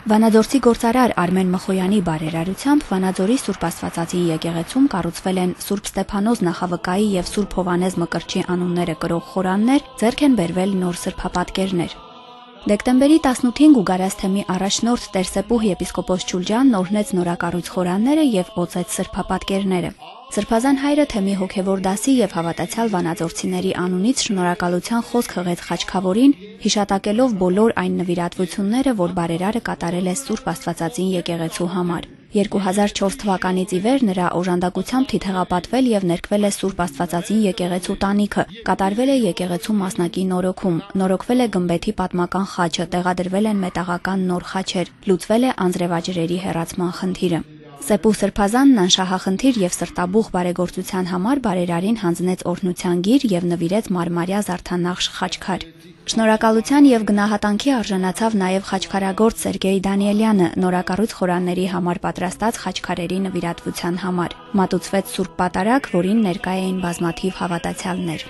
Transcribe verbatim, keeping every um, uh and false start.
Վանաձորցի գործարար Արմեն Մխոյանի բարերարությամբ Վանաձորի Սուրբ Աստվածածին եկեղեցում կառուցվել են Սուրբ Ստեփանոս Նախավկայի եւ Սուրբ Հովանես Մկրտչի անունները կրող խորաններ, ձեռք են բերվել նոր սրբապատկերներ։ Դեկտեմբերի տասնութին Գուգարաս թեմի առաջնորդ Տեր Սեպուհ եպիսկոպոս Չուլջանն օրհնեց նորակառույց խորանները եւ օծեց սրբապատկերները։ Սրբազան հայրը թեմի հոգևոր դասի եւ հավատացյալ վանաձորցիների անունից շնորհակալության խոսք հղեց Խաչքավորին, հիշատակելով բոլոր այն նվիրատվությունները, որ բարերարը կատարել է Սուրբ Աստվածածին եկեղեցու համար։ երկու հազար չորս թվականից ի վեր նրա օժանդակությամբ թիթեղապատվել եւ ներկվել է Սուրբ Աստվածածին եկեղեցու տանիքը, կատարվել է եկեղեցու մասնակի նորոգում, նորոգվել է գմբեթի պատմական խաչը, տեղադրվել են մետաղական նոր խաչեր, լուծվել է անձրևաջրերի հեռացման խնդիրը։ Սեպուհ Սրբազանն անշահախնդիր եւ սրտաբուխ բարեգործության համար բարերարին հանձնեց օրհնության գիր եւ նվիրեց մարմարյա զարդանախշ խաչքար։ Շնորհակալության եւ գնահատանքի արժանացավ նաեւ խաչքարագործ Սերգեյ Դանիելյանը նորակառույց խորանների համար պատրաստած խաչքարերի նվիրատվության համար։ Մատուցվեց Սուրբ Պատարագ, որին ներկա էին բազմաթիվ հավատացյալներ։